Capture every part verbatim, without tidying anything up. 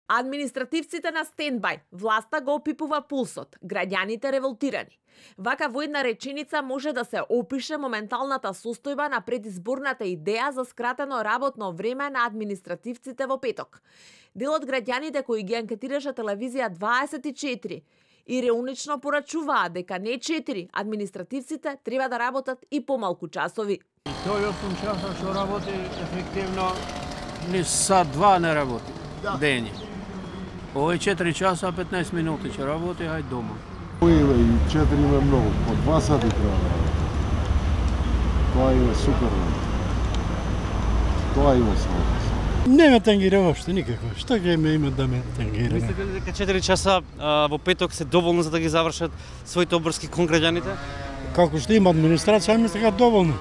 Административците на стендбај, власта го опипува пулсот, граѓаните револтирани. Вака во една реченица може да се опише моменталната состојба на предизборната идеја за скратено работно време на административците во петок. Дел од граѓаните кои ги анкетираше телевизија дваесет и четири иронично порачуваат дека не четири административците треба да работат и помалку часови. Тој осум часа што работи ефективно ни сат два не работи дење. Овој четири часа петнаесет минути ќе работи, ајде дома. Овој и четири има многу, по два сати треба да работи. Тоа има супер. Тоа има смисла. Не ме тангира воопшто никако. Што ќе ме има да ме тангира? Мислите ли дека четири часа а, во петок се доволно за да ги завршат своите обврски кон граѓаните? Како што има администрација, мислам дека доволно.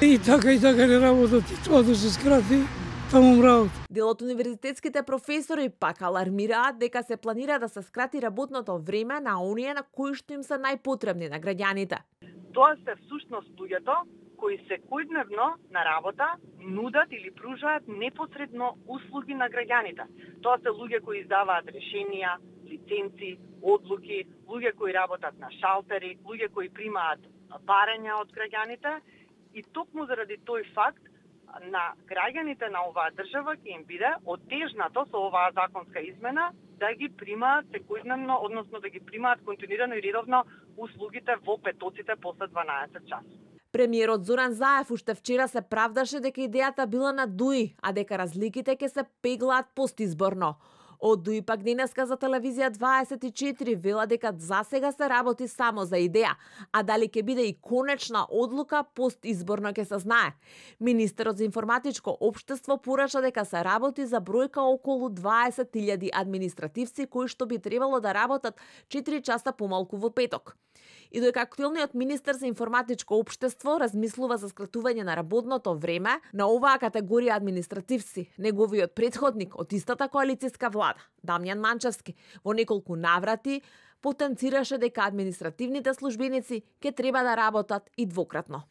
И така и така не работат, и тоа да се скрати, таму работа. Дел од универзитетските професори пак алармираат дека се планира да се скрати работното време на оние на кои што им се најпотребни на граѓаните. Тоа се всушност луѓето кои секојдневно на работа нудат или пружаат непосредно услуги на граѓаните. Тоа се луѓе кои издаваат решенија, лиценци, одлуки, луѓе кои работат на шалтери, луѓе кои примаат барања од граѓаните. И токму заради тој факт на граѓаните на оваа држава ќе им биде отежнато со оваа законска измена да ги примаат секојдневно, односно да ги примаат континуирано и редовно услугите во петоците после дванаесет часот. Премиерот Зоран Заев уште вчера се правдаше дека идејата била на ДУИ, а дека разликите ќе се пеглаат постизборно. Од ДУИ пак денеска за телевизија дваесет и четири вела дека засега се работи само за идеја, а дали ќе биде и конечна одлука постизборно ќе се знае. Министерот за информатичко општество порача дека се работи за бројка околу дваесет илјади административци кои што би требало да работат четири часа помалку во петок. И додека актуелниот министер за информатичко општество размислува за скратување на работното време на оваа категорија административци, неговиот претходник од истата коалицијска влада, Дамјан Манчевски, во неколку наврати потенцираше дека административните службеници ќе треба да работат и двократно.